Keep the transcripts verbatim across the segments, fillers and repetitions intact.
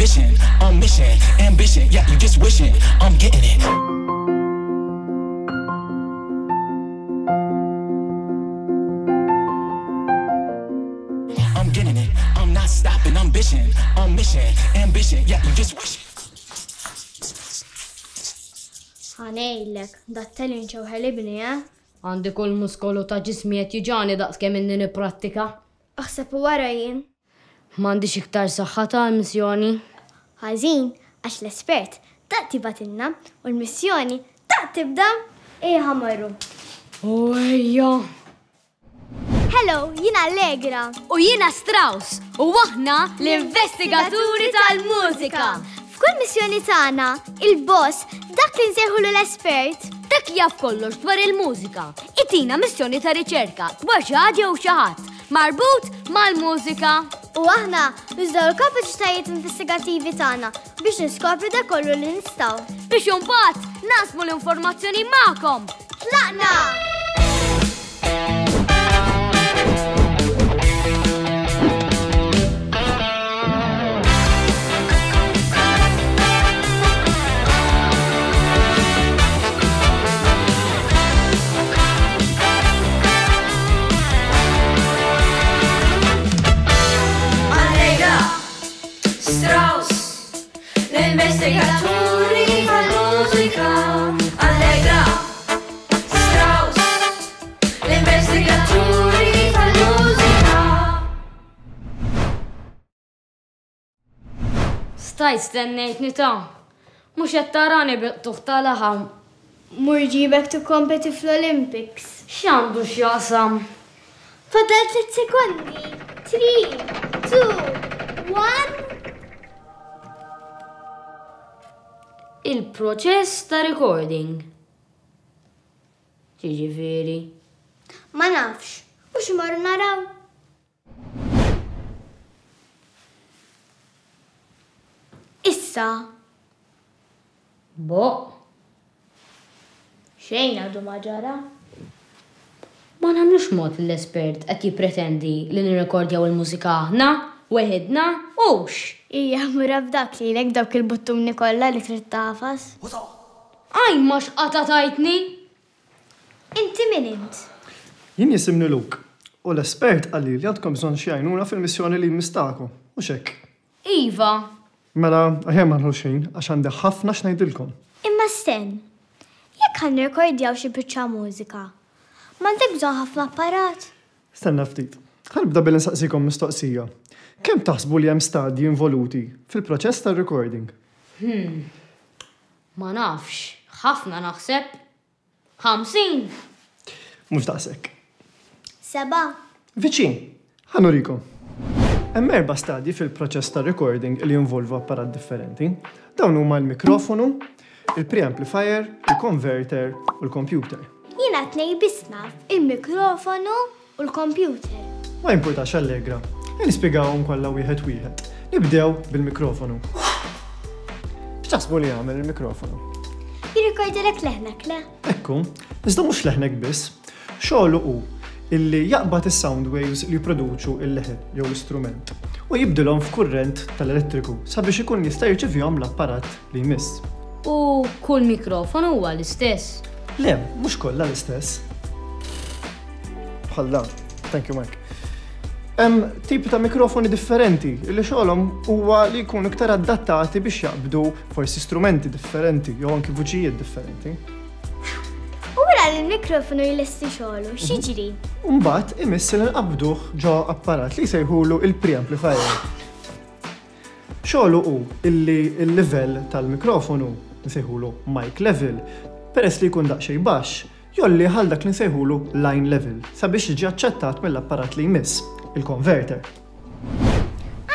vision, on mission, ambition. Yeah, you just wishing, I'm getting it. I'm getting it, I'm not stopping, I'm vision, on mission, ambition. Yeah, you just wishing. Ħa ngħidlek, dat-talent show ħelibni, eh? Għandi kull muskolu ta' ġismi qed jiġani daqs kemm inni nipprattika. Aħseb u wara jien. M'għandix iktar saħħa ta' missjoni. Ħażin, għax l-espert daqt jibgħatilna u l-missjoni daqt tibda. Ejja ħa mmorru. U ejja. Hello, jiena Allegra. U jiena Strauss. U aħna l-investigaturi tal-mużika. F'kull missjoni tagħna, il-boss, dak li nsejħulu l-espert, dak li jaf kollox dwar il-mużika, itina missjoni ta' riċerka dwar xi ħaġa jew xi ħadd marbut mal-mużika. U aħna nużaw il-kapaċitajiet investigattivi tagħna biex niskopru dak kollu li nistgħu. Biex imbagħad naqsmu l-informazzjoni magħkom. Tlaqna! Strauss, l-investigaturi tal-mużika. Allegra, Strauss, l-investigaturi tal-mużika. Stajt stennejtni ta' mhux qed tarani bil-qtugħ ta' laħam. Mur ġibek tikkompeti fl-Olympics. X'għandu x'jaqsam? Fadal tliet sekondi. Three, two, one. Il-proċess ta' recording. Ġiġifieri. Ma nafx, u x'morru naraw? Issa. Bo. Xejn għadu ma ġara. Ma nagħmlux mod l-espert qed jippretendi li nirrekordjaw il-mużika aħna, weħidna, hux. Ija, mura f'dak lilek dawk il-buttuni kollha li trid tagħfas. Aj, ma x'qata tajtni! Inti min int? Jien jisimni Luke, u l-espert qalli li għandkom bżonn xi għajnuna fil-missjoni li jmistakom, u x'hekk? Iva. Mela, aħjar ma nħux ħin, għax għandi ħafna x'ngħidilkom. Imma sten, jekk ħa nirrekordjaw xi biċċa mużika, m'għandek bżonn ħafna apparat? Stenna ftit. Ħa nibda billi nsaqsikom mistoqsija. Kemm taħsbu li hemm stadji involuti fil-proċess tar-recording? Hmm. Ma nafx, ħafna naħseb. Ħamsin. Mhux daqshekk. Seba'. Viċin, ħa nurikom. Hemm erba' stadji fil-proċess tar-recording li jinvolvu apparat differenti. Dawn huma l-mikrofonu, il-preamplifier, il-converter u l-computer. Jiena tnej biss naf il-mikrofonu u l-computer. Ma jimpurtax Allegra. Nispjegawhom kollha wieħed wieħed. Nibdew bil-mikrofonu. X'taħsbu li jagħmel il-mikrofonu? Jirrikordilek leħnek, le? Ekku, iżda mhux leħnek biss. Xogħlu hu illi jaqbad is-sound waves li jipproduċu il-leħen jew l-istrument u jibdilhom f'kurrent tal-elettriku sabiex ikun jista' jirċevihom l-apparat li jmiss. U kull mikrofonu huwa l-istess? Le, mhux kollha l-istess. Bħal dan. Thank you, Mike. Hemm tipi ta' mikrofoni differenti li xogħolhom huwa li jkunu iktar adattati biex jaqbdu forsi strumenti differenti jew anki vuċijiet differenti. U wara li l-mikrofonu jlesti xogħlu, x'jiġri? Mbagħad imiss li nqabduh ġo apparat li jsejħulu il-preamplifier. Xogħlu hu illi l-livell tal-mikrofonu nsejħulu mic level, peress li jkun daqsxejn baxx, jolli għal dak li nsejħulu line level sabiex jiġi aċċettat mill-apparat li jmiss, il-converter.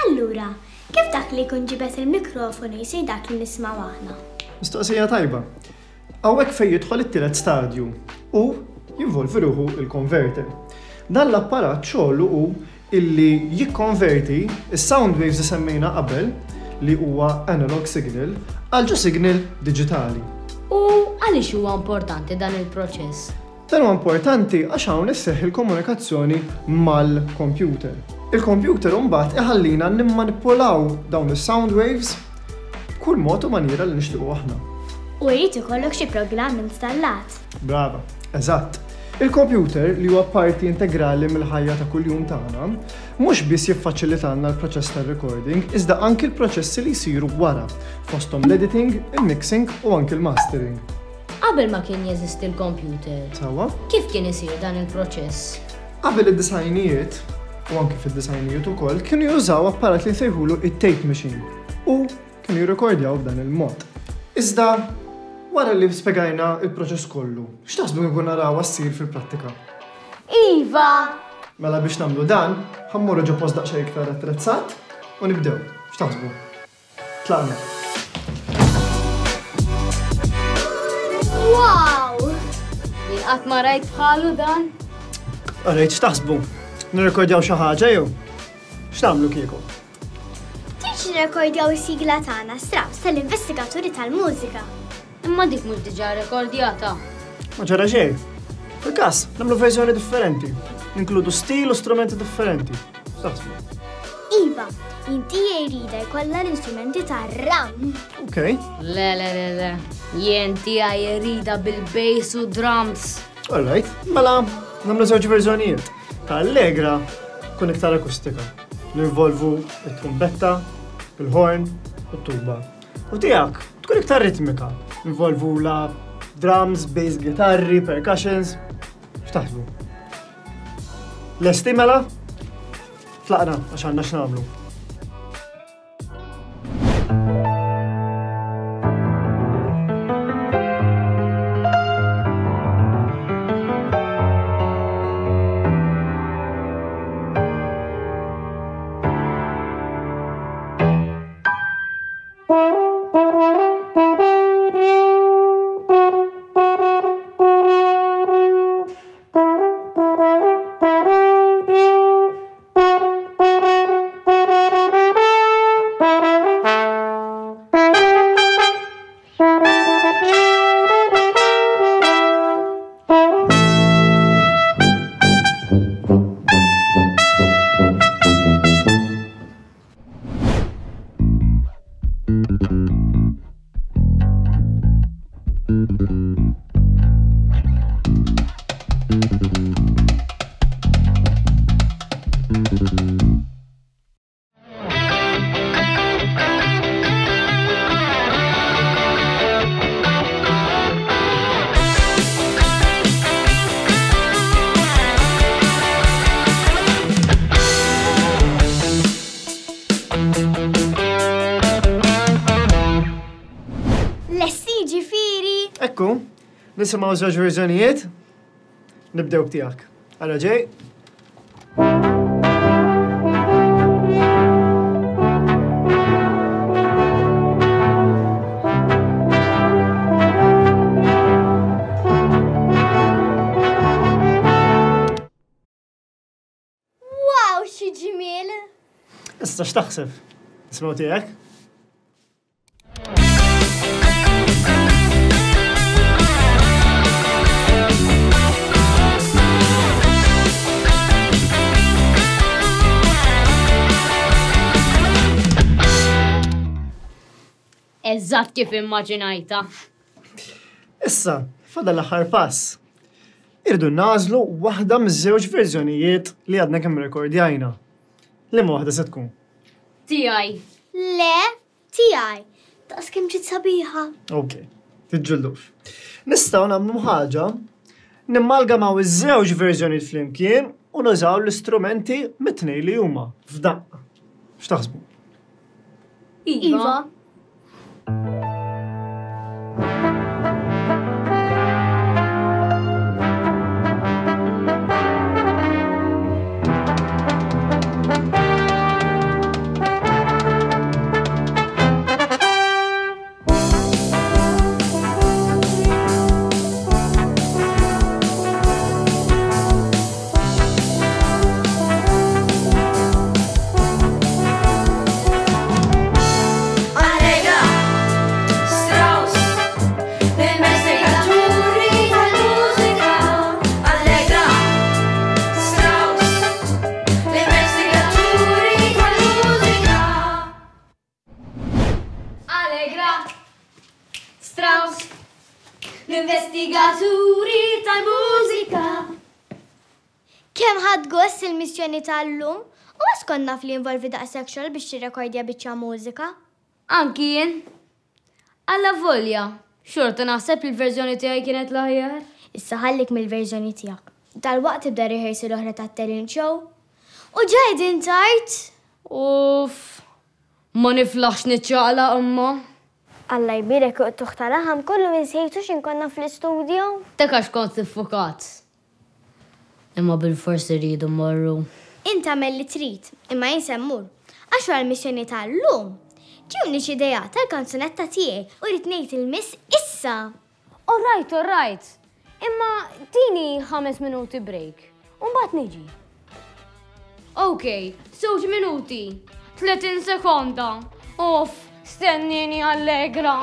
Allura, kif dak li jkun ġibet il-mikrofonu jsir dak li nismgħu aħna? Mistoqsija tajba. Hawnhekk fejn jidħol it-tielet stadju u jinvolvi ruħu il-converter. Dan l-apparat xogħlu hu illi jikkonverti is-sound waves li semmejna qabel li huwa analog signal għal ġo signal diġitali. U għaliex huwa importanti dan il-proċess? Dan huwa importanti għax hawn isseħħ il-komunikazzjoni mal-computer. Il-computer mbagħad iħallina nimmanipulaw dawn is-sound waves b'kull mod u maniera li nixtiequ aħna. U jrid ikollok xi programm installat. Brava, eżatt. Il-computer li huwa parti integrali mill-ħajja ta' kuljum tagħna, mhux biss jiffaċilitalna l-proċess tar-recording, iżda anki l-proċessi li jsiru wara, fosthom l-editing, il-mixing u anki l-mastering. Qabel ma kien jeżisti l-computer, Sewwa? kif kien isir dan il-proċess? Qabel id-disgħinijiet, u anki fid-disgħinijiet ukoll, kienu jużaw apparat li jsejħulu it-tape machine u kienu jirrekordjaw b'dan il-mod. Iżda, wara li spjegajna il-proċess kollu, x'taħsbu kieku narawha ssir fil-prattika? Iva! Mela biex nagħmlu dan, ħa mmorru ġo post daqsxejn iktar attrezzat u nibdew. X'taħsbu? Tlaqna. Wow! Jien qatt ma rajt bħalu dan? Alright, x'taħsbu? Nirrekordjaw xi ħaġa jew? X'nagħmlu kieku? Tridx nirrekordjaw is-sigla tagħna Strauss tal-investigaturi tal-mużika. Imma dik mhux diġà rekordjata. Ma ġara xejn. Fil-każ, nagħmlu verżjoni differenti. Ninkludu stil u strumenti differenti. X'taħsbu? Iva, inti jrida jkollha l-istrumenti tar-ram. Ok. Le, le, le, le. Jien tiegħi jrida bil-bass u drums. Alright, mela nagħmlu żewġ verżjonijiet. Ta' Allegra tkun iktar akustika. Ninvolvu it-trumbetta, il-horn u t-tuba. U tiegħek tkun iktar ritmika. Ninvolvu la drums, bass, gitarri, percussions. X'taħsbu? Lesti mela? Tlaqna għax għandna x'nagħmlu. Lesti ġifieri! Ekku, nisimgħu żewġ verżjonijiet. Nibdew b'tiegħek. Ara ġej. Wow, xi ġmiel! Issa x'taħseb? Nisimgħu tiegħek? Eżatt kif immaġinajta. Issa, fadal l-aħħar pass. Irdu nagħżlu waħda miż-żewġ verżjonijiet li għadna kemm rekordjajna. Liema waħda se tkun? Tiegħi. Le, tiegħi. Daqs kemm ġiet sabiħa. Ok, tiġġullux. Nistgħu nagħmlu ħaġa, nimmalgamaw iż-żewġ verżjonijiet flimkien u nużaw l-istrumenti mit-tnejn li huma f'daqqa. X'taħsbu? Iva. Allegra, Investigaturi tal-mużika. Kemm ħadt gost il-missjoni tal-lum u għax kont naf li involvi daqshekk xogħol biex tirrekordja biċċa mużika. Anki jien. Allavolja, xorta naħseb il-verżjoni tiegħi kienet l-aħjar. Issa ħallik mill-verżjoni tiegħek. Dalwaqt tibda rehearsal oħra tat-talent show. U ġa qegħdin tard. Uff, ma niflaħx niċċaqlaq imma. Alla jbierek uqtuħ tal-laħam kollu insejtu x'ħin konna fl-istudio. Dak għax kont iffukat. Imma bil-forsi rridu mmorru. Inta agħmel li trid, imma jien se mmur. Għax wara l-missjoni tal-lum. Ġewni xi idea tal-kanzunetta tiegħi u rrid ngħid il-miss issa. All right, all right. Imma tini ħames minuti break. U mbagħad niġi. Ok, żewġ minuti. tletin sekonda. Uff, stennini, Allegra.